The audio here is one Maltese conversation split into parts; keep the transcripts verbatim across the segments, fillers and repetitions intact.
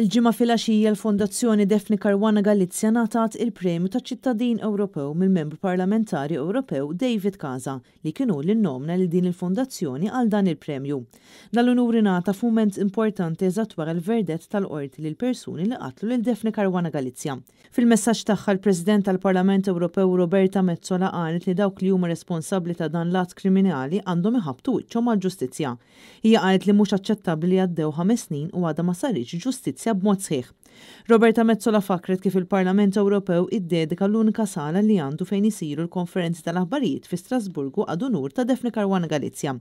Il-Ġimgħa filgħaxija l-Fondazzjoni Daphne Caruana Galizia ngħatat il-Premju ta' Ċittadin Ewropew mill-Membru Parlamentari Ewropew David Casa, li kien hu li nnomina lil din il-fondazzjoni għal dan il-premju. Dan l-unur ingħata f'mument importanti, eżatt wara l-verdett tal-qorti lil persuni li qatlu lil Daphne Caruana Galizia. Fil-messaġġ tagħha, l-President tal-Parlament Ewropew Roberta Metsola qalet li dawk li huma responsabbli ta' dan l-att kriminali għandhom iħabbtu wiċċhom mal-ġustizzja. Hija qalet li mhux aċċettabbli li għaddew ħames snin u għadha ma saritx ġustizzja b'mod sħiħ. Roberta Metsola fakret kif il-Parlament Ewropew iddedika l-unika sala li għandu fejn isiru l-konferenzi tal-aħbarijiet fi Strasburgu ad unur ta' Daphne Caruana Galizia.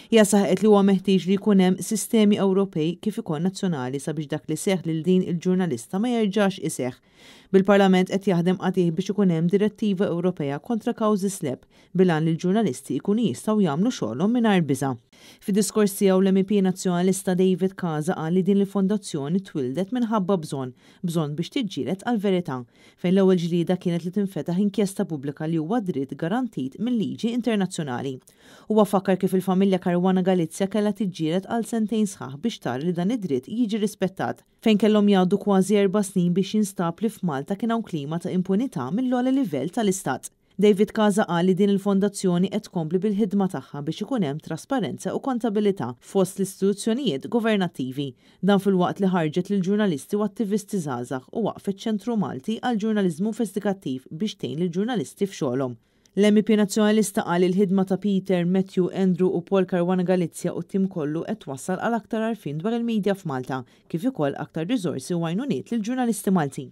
Hija saħqet li huwa meħtieġ li jkun hemm sistemi Ewropej kif ukoll nazzjonali sabiex dak li seħħ lil din il-ġurnalista ma jerġax iseħħ. Bil-Parlament qed jaħdem qatigħ biex ikun hemm direttiva Ewropea kontra kawżi SLAPP bil-għan li l-ġurnalisti jkunu jistgħu jagħmlu xogħolhom mingħajr biża'. Fid-diskors tiegħu, l-M E P Nazzjonalista David Casa qal li din il-fondazzjoni twildet minħabba bżonn, bżonn biex tiġġieled għal-verità, fejn l-ewwel ġlida kienet li tinfetaħ inkjesta pubblika, li huwa dritt garantit mill-liġi internazzjonali. Huwa fakkar kif il-familja Caruana Galizia kellha tiġġieled għal sentejn sħaħ biex tara li dan id-dritt jiġi rispettat, fejn kellhom jgħaddu kważi erba' snin biex jinstab li f'Malta kien hawn klima ta' impunità mill-ogħla livell tal-Istat. David Casa qal li din il-fondazzjoni qed tkompli bil-ħidma tagħha biex ikun hemm trasparenza u kontabilità fost l-istituzzjonijiet governattivi. Dan filwaqt li ħarġet lil ġurnalisti u attivisti żgħażagħ u waqfet Ċentru Malti għal Ġurnaliżmu Investigattiv biex tgħin lil ġurnalisti f'xogħolhom. L-M E P Nazzjonalista qal il-ħidma ta' Peter, Matthew, Andrew u Paul Caruana Galizia u tim kollu qed twassal għal aktar għarfien dwar il-medja f'Malta, kif ukoll aktar riżorsi u għajnuniet lil ġurnalisti Maltin.